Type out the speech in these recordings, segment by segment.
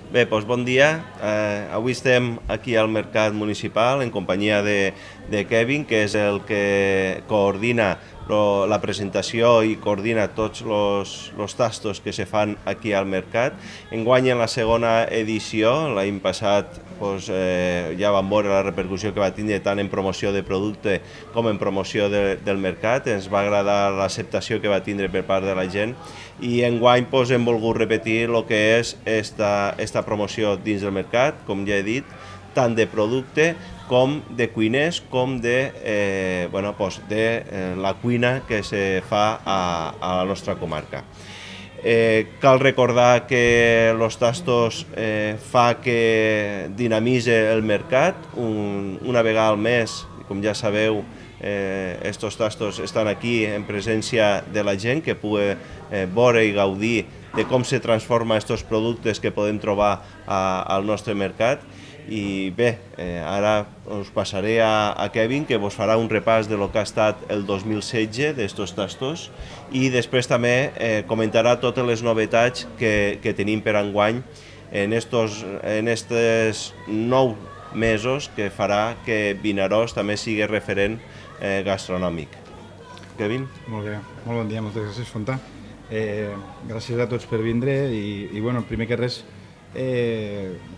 Bé, doncs bon dia. Avui estem aquí al Mercat Municipal en companyia de Kevin, que és el que coordina la presentació i coordina tots els tastos que se fan aquí al mercat. Enguany en la segona edició, l'any passat ja vam veure la repercussió que va tindre tant en promoció de producte com en promoció del mercat. Ens va agradar l'acceptació que va tindre per part de la gent i enguany hem volgut repetir el que és esta promoció dins del mercat, com ja he dit, tant de producte com de cuiners, com de la cuina que se fa a la nostra comarca. Cal recordar que els tastos fa que dinamitze el mercat. Una vegada al mes, com ja sabeu, estos tastos estan aquí en presència de la gent que pugui veure i gaudir de com se transforma estos productes que podem trobar al nostre mercat. I bé, ara us passaré a Kevin, que vos farà un repàs de lo que ha estat el 2016 d'estos tastos i després també comentarà totes les novetats que tenim per enguany en estos 9 mesos que farà que Vinaròs també sigui referent gastronòmic. Kevin? Molt bé, molt bon dia, moltes gràcies, Fontà. Gràcies a tots per vindre i primer que res,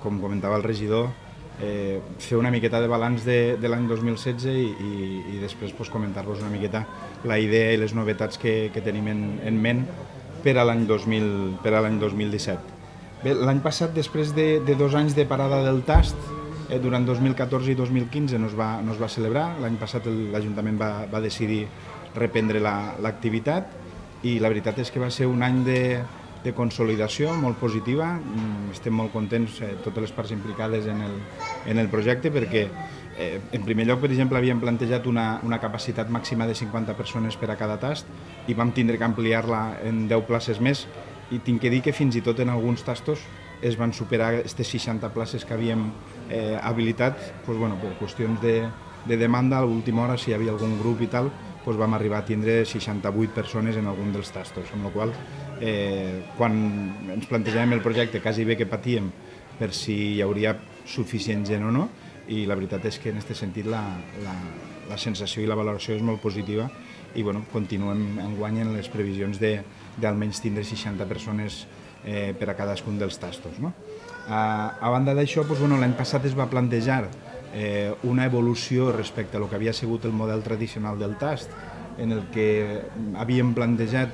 com comentava el regidor, fer una miqueta de balanç de l'any 2016 i després comentar-vos una miqueta la idea i les novetats que tenim en ment per a l'any 2017. Bé, l'any passat, després de 2 anys de parada del tast, durant 2014 i 2015 no es va celebrar. L'any passat l'Ajuntament va decidir reprendre l'activitat i la veritat és que va ser un any de consolidació molt positiva. Estem molt contents, totes les parts implicades en el projecte, perquè en primer lloc, per exemple, havíem plantejat una capacitat màxima de 50 persones per a cada tast i vam tindre que ampliar-la en 10 places més, i tinc que dir que fins i tot en alguns tastos es van superar aquestes 60 places que havíem habilitat per qüestions de demanda. A l'última hora, si hi havia algun grup i tal, vam arribar a tindre 68 persones en algun dels tastos, amb la qual quan ens plantejàvem el projecte quasi bé que patíem per si hi hauria suficient gent o no, i la veritat és que en aquest sentit la sensació i la valoració és molt positiva i continuem enguany en les previsions d'almenys tindre 60 persones per a cadascun dels tastos. A banda d'això, l'any passat es va plantejar una evolució respecte a lo que havia sigut el model tradicional del tast, en el que havíem plantejat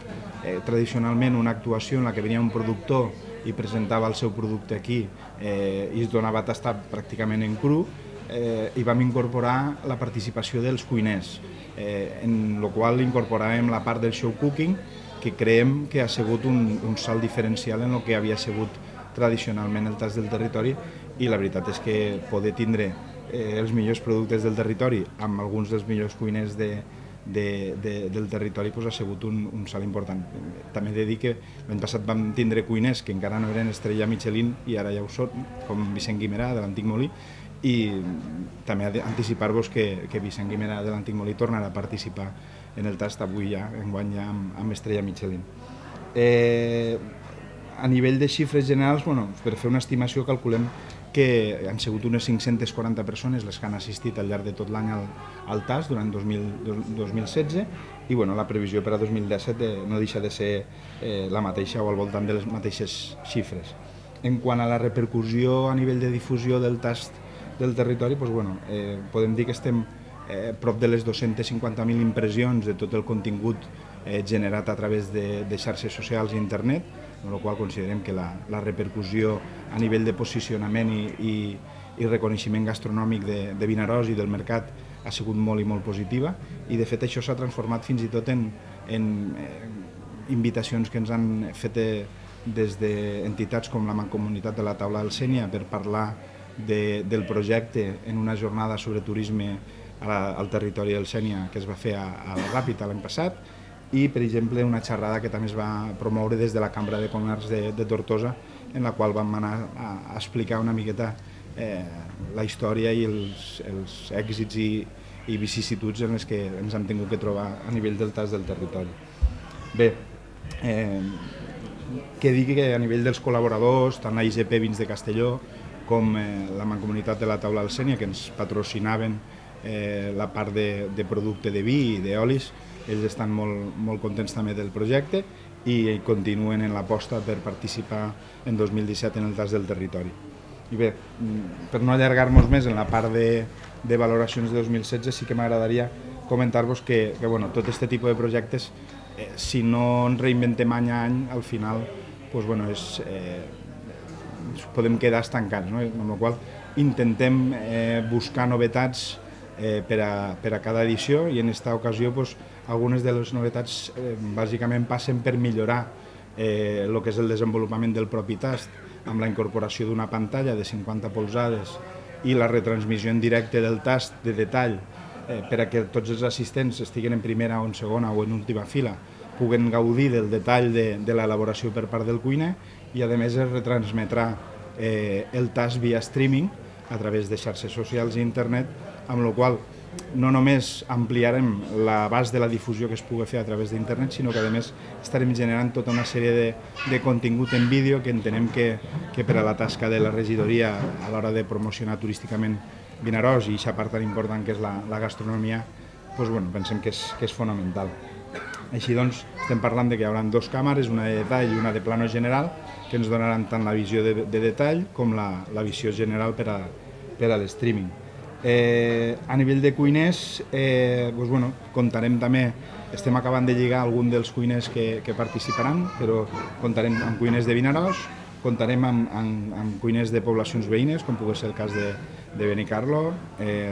tradicionalment una actuació en la que venia un productor i presentava el seu producte aquí i es donava a tastar pràcticament en cru, i vam incorporar la participació dels cuiners, en la qual incorporàvem la part del show cooking, que creiem que ha sigut un salt diferencial en el que havia sigut tradicionalment el tast del territori, i la veritat és que poder tindre els millors productes del territori amb alguns dels millors cuiners del territori ha sigut un salt important. També he de dir que l'any passat vam tindre cuiners que encara no eren estrella Michelin i ara ja ho són, com Vicent Guimerà de l'Antic Molí, i també anticipar-vos que Vicent Guimerà de l'Antic Molí tornarà a participar en el tast avui ja, enguany ja amb estrella Michelin. A nivell de xifres generals, per fer una estimació, calculem que han sigut unes 540 persones les que han assistit al llarg de tot l'any al tast durant 2016, i la previsió per a 2017 no deixa de ser la mateixa o al voltant de les mateixes xifres. En quant a la repercussió a nivell de difusió del tast del territori, podem dir que estem prop de les 250.000 impressions de tot el contingut generat a través de xarxes socials i internet, amb la qual considerem que la repercussió a nivell de posicionament i reconeixement gastronòmic de Vinaròs i del mercat ha sigut molt i molt positiva, i de fet això s'ha transformat fins i tot en invitacions que ens han fet des d'entitats com la Mancomunitat de la Taula del Sénia per parlar del projecte en una jornada sobre turisme al territori del Sénia que es va fer a la Ràpita l'any passat, i, per exemple, una xerrada que també es va promoure des de la Cambra de Comerç de Tortosa, en la qual vam anar a explicar una miqueta la història i els èxits i vicissituds en les que ens hem tingut que trobar a nivell del tast del territori. Bé, que digui que a nivell dels col·laboradors, tant la IGP Vins de Castelló com la Mancomunitat de la Taula del Sénia, que ens patrocinaven la part de producte de vi i d'olis, ells estan molt contents també del projecte i continuen en l'aposta per participar en 2017 en el tast del territori. I bé, per no allargar-nos més en la part de valoracions de 2016, sí que m'agradaria comentar-vos que tot aquest tipus de projectes, si no ens reinventem any a any, al final podem quedar estancats, amb la qual cosa intentem buscar novetats per a cada edició i en aquesta ocasió algunes de les novetats bàsicament passen per millorar el que és el desenvolupament del propi tast, amb la incorporació d'una pantalla de 50 polzades i la retransmissió en directe del tast de detall per a que tots els assistents estiguin en primera o en segona o en última fila puguen gaudir del detall de l'elaboració per part del cuiner i a més es retransmetrà el tast via streaming a través de xarxes socials i internet, amb la qual no només ampliarem l'abast de la difusió que es pugui fer a través d'internet, sinó que a més estarem generant tota una sèrie de contingut en vídeo que entenem que per a la tasca de la regidoria a l'hora de promocionar turísticament Vinaròs i aquesta part tan important que és la gastronomia, pensem que és fonamental. Així doncs, estem parlant que hi haurà 2 càmeres, una de detall i una de plano general, que ens donaran tant la visió de detall com la visió general per a l'streaming. A nivell de cuiners, comptarem també, estem acabant de lligar algun dels cuiners que participaran, però comptarem amb cuiners de Vinaròs, comptarem amb cuiners de poblacions veïnes, com pugui ser el cas de Benicarló,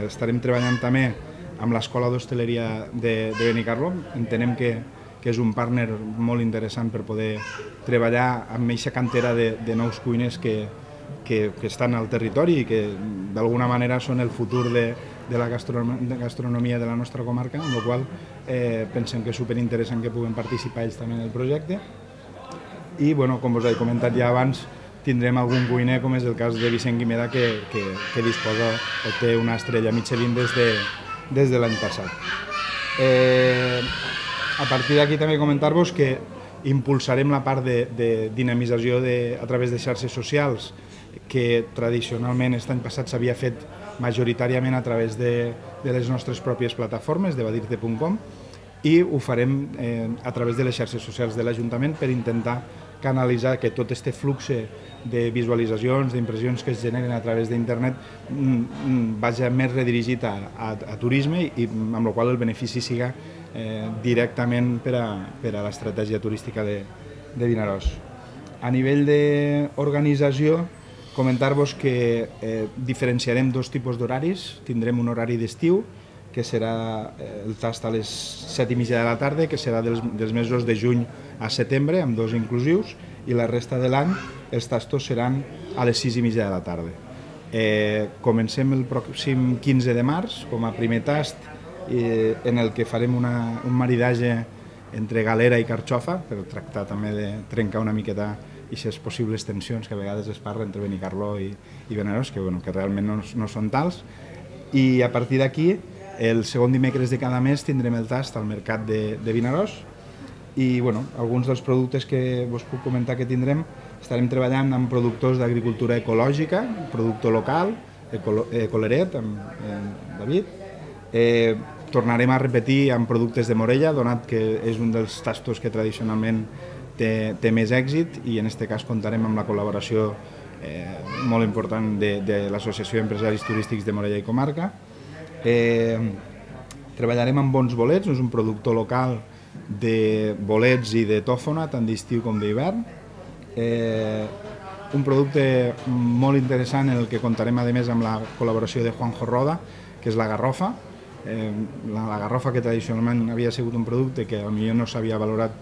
estarem treballant també amb l'Escola d'Hostaleria de Benicarló, entenem que és un partner molt interessant per poder treballar amb aquesta cantera de nous cuiners que estan al territori i que d'alguna manera són el futur de la gastronomia de la nostra comarca, amb la qual pensem que és superinteressant que puguem participar ells també en el projecte. I, com us he comentat ja abans, tindrem algun cuiner, com és el cas de Vicent Guimera, que disposa o té una estrella Michelin des de l'any passat. A partir d'aquí també comentar-vos que impulsarem la part de dinamització a través de xarxes socials, que tradicionalment aquest any passat s'havia fet majoritàriament a través de les nostres pròpies plataformes, de badirte.com, i ho farem a través de les xarxes socials de l'Ajuntament per intentar canalitzar que tot aquest flux de visualitzacions, d'impressions que es generen a través d'internet vagi més redirigit a turisme i amb la qual el benefici siga directament per a l'estratègia turística de Vinaròs. A nivell d'organització, comentar-vos que diferenciarem 2 tipus d'horaris. Tindrem un horari d'estiu, que serà el tast a les 7:30 de la tarda, que serà dels mesos de juny a setembre, amb 2 inclusius, i la resta de l'any els tastos seran a les 6:30 de la tarda. Comencem el pròxim 15 de març com a primer tast, en el que farem un maridatge entre galera i carxofa, per tractar també de trencar una miqueta aquestes possibles tensions que a vegades es parla entre Benicarló i Vinaròs, que realment no són tals. I a partir d'aquí, el segon dimecres de cada mes tindrem el tast al mercat de Vinaròs i alguns dels productes que vos puc comentar que tindrem, estarem treballant amb productors d'agricultura ecològica, productor local, Coleret, amb David. Tornarem a repetir amb productes de Morella, donat que és un dels tastos que tradicionalment té més èxit i en aquest cas comptarem amb la col·laboració molt important de l'Associació d'Empresaris Turístics de Morella i Comarca. Treballarem amb bons bolets, és un productor local de bolets i de tòfona, tant d'estiu com d'hivern. Un producte molt interessant en el que comptarem a més amb la col·laboració de Juanjo Roda, que és la garrofa. La garrofa, que tradicionalment havia sigut un producte que potser no s'havia valorat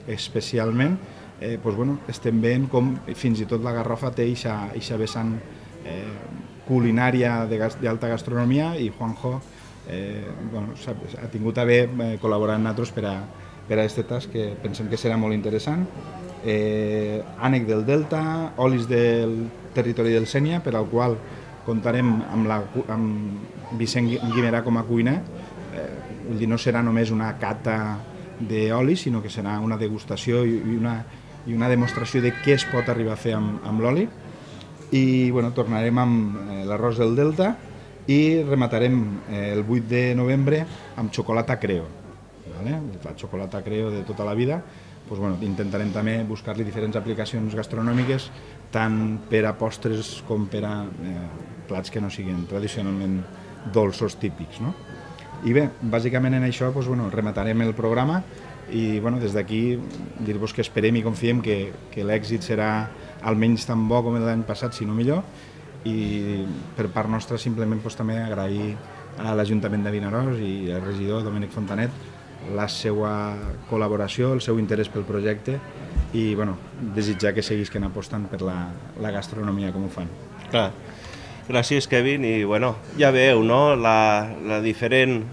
especialment, estem veient com fins i tot la garrofa té aquesta vessant culinària d'alta gastronomia i Juanjo ha tingut a bé col·laborar amb nosaltres per a aquest tast que pensem que serà molt interessant. Ànec del Delta, olis del territori del Sénia, per al qual comptarem amb Vicent Guimerà com a cuiner. No serà només una cata d'oli, sinó que serà una degustació i i una demostració de què es pot arribar a fer amb l'oli. I bueno, tornarem amb l'arròs del Delta i rematarem el 8 de novembre amb xocolata Creo. La xocolata Creo de tota la vida. Doncs, bueno, intentarem també buscar-li diferents aplicacions gastronòmiques, tant per a postres com per a plats que no siguin tradicionalment dolços típics. No? I bé, bàsicament en això doncs, bueno, rematarem el programa i bueno, des d'aquí dir-vos que esperem i confiem que l'èxit serà almenys tan bo com l'any passat, si no millor, i per part nostra simplement doncs, també agrair a l'Ajuntament de Vinaròs i al regidor Domènec Fontanet la seva col·laboració, el seu interès pel projecte i bueno, desitjar que seguisquen apostant per la gastronomia com ho fan. Clar. Gràcies, Kevin, i bueno, ja veieu, no?, la diferent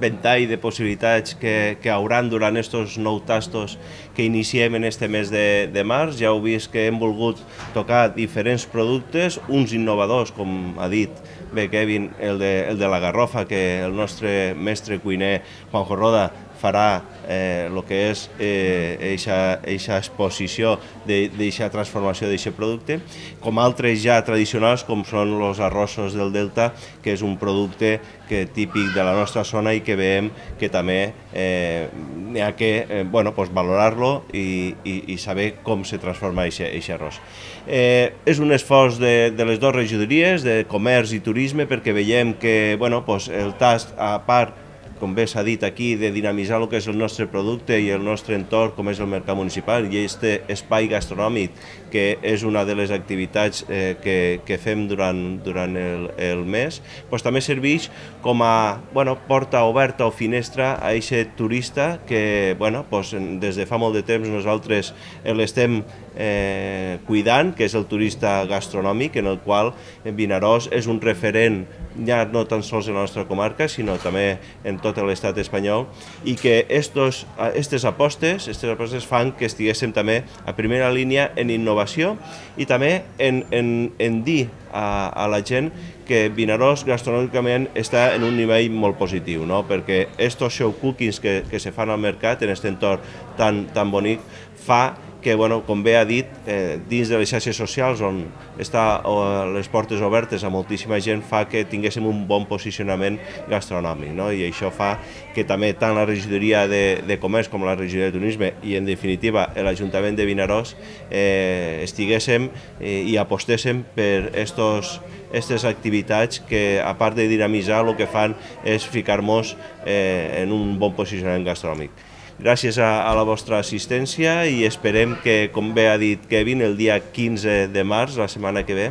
ventall de possibilitats que hauran durant aquests 9 tastos que iniciem en este mes de març. Ja heu vist que hem volgut tocar diferents productes, uns innovadors, com ha dit bé Kevin, el de la garrofa, que el nostre mestre cuiner Juanjo Roda farà el que és aquesta exposició d'aquesta transformació d'aquest producte, com altres ja tradicionals com són els arrossos del Delta, que és un producte típic de la nostra zona i que veiem que també n'hi ha que valorar-lo i saber com se transforma aquest arròs. És un esforç de les dues regidories, de Comerç i Turisme, perquè veiem que el tast, a part, com bé s'ha dit aquí, de dinamitzar el que és el nostre producte i el nostre entorn, com és el mercat municipal, i aquest espai gastronòmic, que és una de les activitats que fem durant el mes, també serveix com a porta oberta o finestra a aquest turista que des de fa molt de temps nosaltres l'estem cuidant, que és el turista gastronòmic, en el qual Vinaròs és un referent ja no tan sols en la nostra comarca, sinó també en tot l'estat espanyol, i que aquestes apostes fan que estiguéssim també a primera línia en innovació i també en dir a la gent que Vinaròs gastronòmicament està en un nivell molt positiu, perquè aquests show cookings que se fan al mercat en aquest entorn tan bonic fa que, com bé ha dit, dins de les xarxes socials on està les portes obertes a moltíssima gent fa que tinguéssim un bon posicionament gastronòmic, i això fa que també tant la regidoria de Comerç com la regidoria de Turisme i en definitiva l'Ajuntament de Vinaròs estiguéssim i apostéssim per aquestes activitats que, a part de dinamitzar, el que fan és ficar-nos en un bon posicionament gastronòmic. Gràcies a la vostra assistència i esperem que, com bé ha dit Kevin, el dia 15 de març, la setmana que ve,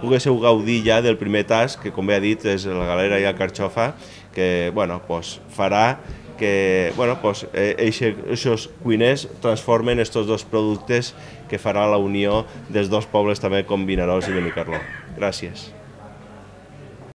poguéssiu gaudir ja del primer tast, que com bé ha dit és la galera i la carxofa, que farà que aquests cuiners transformen aquests dos productes que farà la unió dels dos pobles també com Vinaròs i Benicarló. Gràcies.